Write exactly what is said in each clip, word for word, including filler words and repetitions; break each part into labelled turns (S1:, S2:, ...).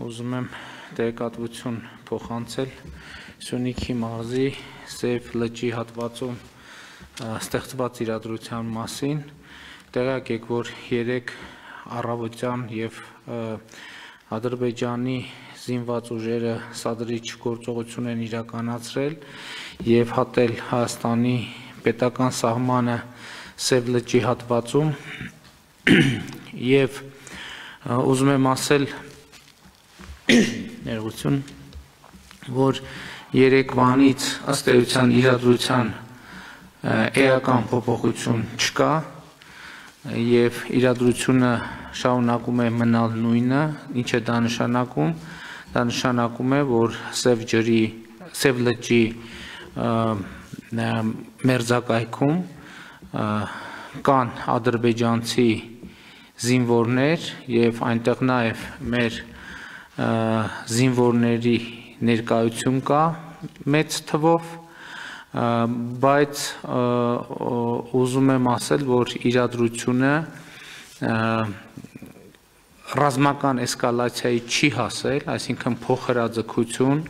S1: Ուզում եմ տեղեկատվություն փոխանցել Սյունիքի մարզի Սև լճի հատվածում ստեղծված իրադրության մասին։ Տեղյակ եք, որ երեք առավոտյան եւ Ադրբեջանի զինված ուժերը սադրիչ գործողություն են իրականացրել եւ հատել Հայաստանի պետական սահմանը Սև լճի հատվածում եւ ուզում եմ ասել ներողություն, որ երեկվանից ըստ էության իրադրության էական փոփոխություն չկա եւ իրադրությունը շարունակում է մնալ նույնը, ինչ է դա նշանակում, դա նշանակում է, որ Սև ջրի, Սև լճի մերձակայքում կան ադրբեջանցի զինվորներ եւ այնտեղ նաեւ մեր զինվորների ներկայություն կա մեծ թվով, բայց ուզում եմ ասել, որ իրադրությունը ռազմական էսկալացիայի չի հասել, այսինքն փոխհրաձգություն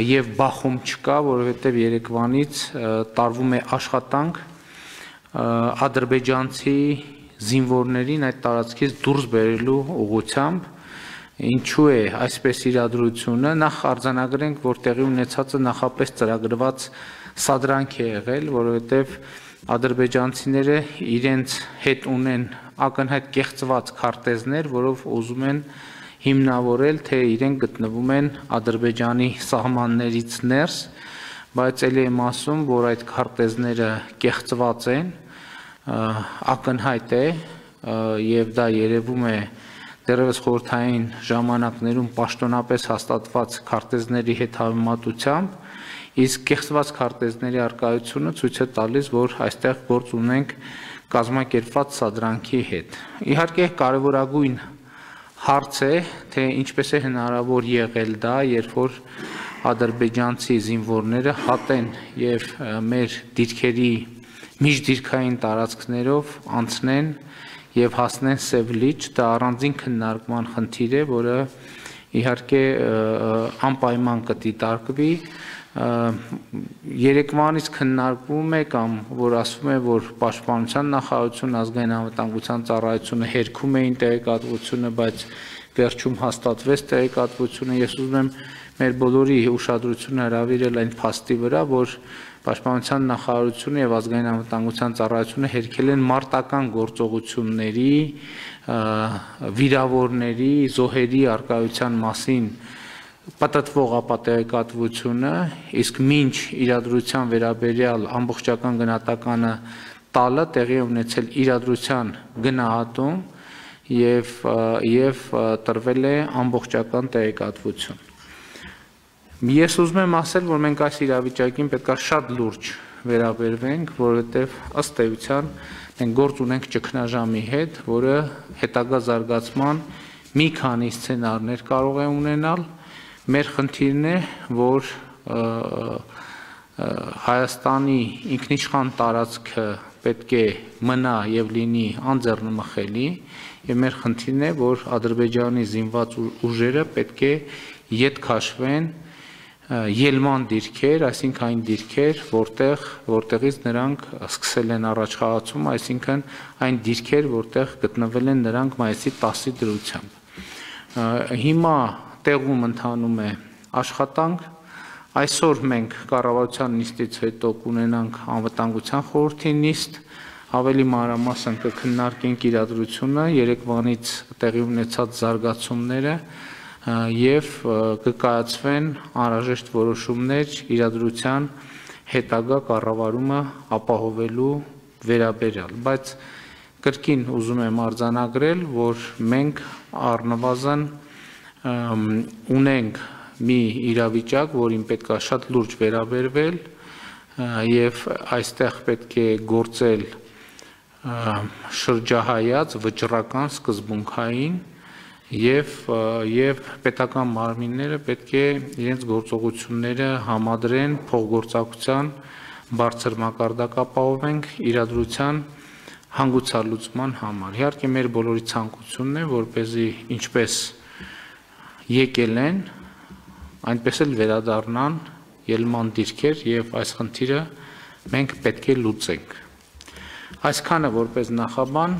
S1: եւ բախում չկա, որովհետեւ երեկվանից տարվում է աշխատանք ադրբեջանցի զինվորներին այդ տարածքից դուրս բերելու ուղղությամբ։ Ինչու է այսպես իրադրությունը, նախ արձանագրենք, որ տեղի ունեցածը նախապես ծրագրված սադրանք է եղել, որովհետև ադրբեջանցիները իրենց հետ ունեն ակնհայտ կեղծված քարտեզներ, որով ուզում են հիմնավորել, թե իրենք գտնվում են Ադրբեջանի սահմաններից ներս, բայց ելի եմ ասում, որ այդ քարտեզները կեղծված են, ակնհայտ է եւ դա երևում է դեռևս խորհրդային ժամանակներում պաշտոնապես հաստատված քարտեզների հետ համեմատությամբ, իսկ կեղծված քարտեզների առկայությունը ցույց է տալիս, որ այստեղ գործ ունենք կազմակերպված սադրանքի հետ։ Իհարկե կարևորագույն հարց է, թե ինչպես է հնարավոր եղել դա, երբ որ ադրբեջանցի զինվորները հատեն եւ մեր դիրքերի միջդիրքային տարածքներով անցնեն եւ հասնեն Սև լիճ, դա առանձին քննարկման խնդիր է, որը իհարկե անպայման կդիտարկվի։ Երեկվանից քննարկվում է կամ որ ասվում է, որ Պաշտպանության նախարարությունը, ազգային անվտանգության ծառայությունը հերքում էին տեղեկատվությունը, բայց վերջում հաստատվեց տեղեկատվությունը։ Ես ուզում եմ մեր բոլորի ուշադրությունը հրավիրել այն փաստի վրա, որ Պաշտպանության նախարարությունը եւ ազգային անվտանգության ծառայությունը հերքել են մարտական գործողությունների, վիրավորների, զոհերի առկայության մասին պատտվող ապատեղեկատվությունը, իսկ մինչ իրադրության վերաբերյալ ամբողջական գնահատականը տալը տեղի ունեցել իրադրության գնահատում եւ եւ տրվել է ամբողջական տեղեկատվություն։ Ես ուզում եմ ասել, որ մենք այս իրավիճակին պետք է շատ լուրջ վերաբերվենք, որովհետև ըստ էության մենք գործ ունենք ճգնաժամի հետ, որը հետագա զարգացման մի քանի սցենարներ կարող է ունենալ։ Մեր խնդիրն է, որ Հայաստանի ինքնիշխան տարածքը պետք է մնա եւ լինի անձեռնմխելի, եւ մեր խնդիրն է, որ Ադրբեջանի զինված ուժերը պետք է ետ քաշվեն ելման դիրքեր, այսինքն այն դիրքեր, որտեղ որտեղից նրանք սկսել են առաջխաղացում, այսինքն այն դիրքեր, որտեղ գտնվել են նրանք մայիսի տասի դրությամբ։ Հիմա տեղում ընթանում է աշխատանք, այսօր մենք կառավարության նիստից հետո կունենանք անվտանգության խորհրդի նիստ, ավելի մանրամասն կքննարկենք իրադրությունը, երեկվանից տեղի ունեցած զարգացումները եւ կկայացվեն անհրաժեշտ որոշումներ իրադրության հետագա կառավարումը ապահովելու վերաբերյալ, բայց կրկին ուզում եմ արձանագրել, որ մենք առնվազն ունենք մի իրավիճակ, որին պետք է շատ լուրջ վերաբերվել եւ այստեղ պետք է գործել շրջահայաց վճռական սկզբունքային Եվ եւ պետական մարմինները պետք է իրենց գործողությունները համադրեն փոխգործակցության բարձր մակարդակ ապահովենք իրադրության հանգուցալուծման համար։ Իհարկե մեր բոլորի ցանկությունն է, որպեսզի ինչպես եկել են, այնպես էլ վերադառնան ելման դիրքեր եւ այս խնդիրը մենք պետք է լուծենք։ Այսքանը որպես նախաբան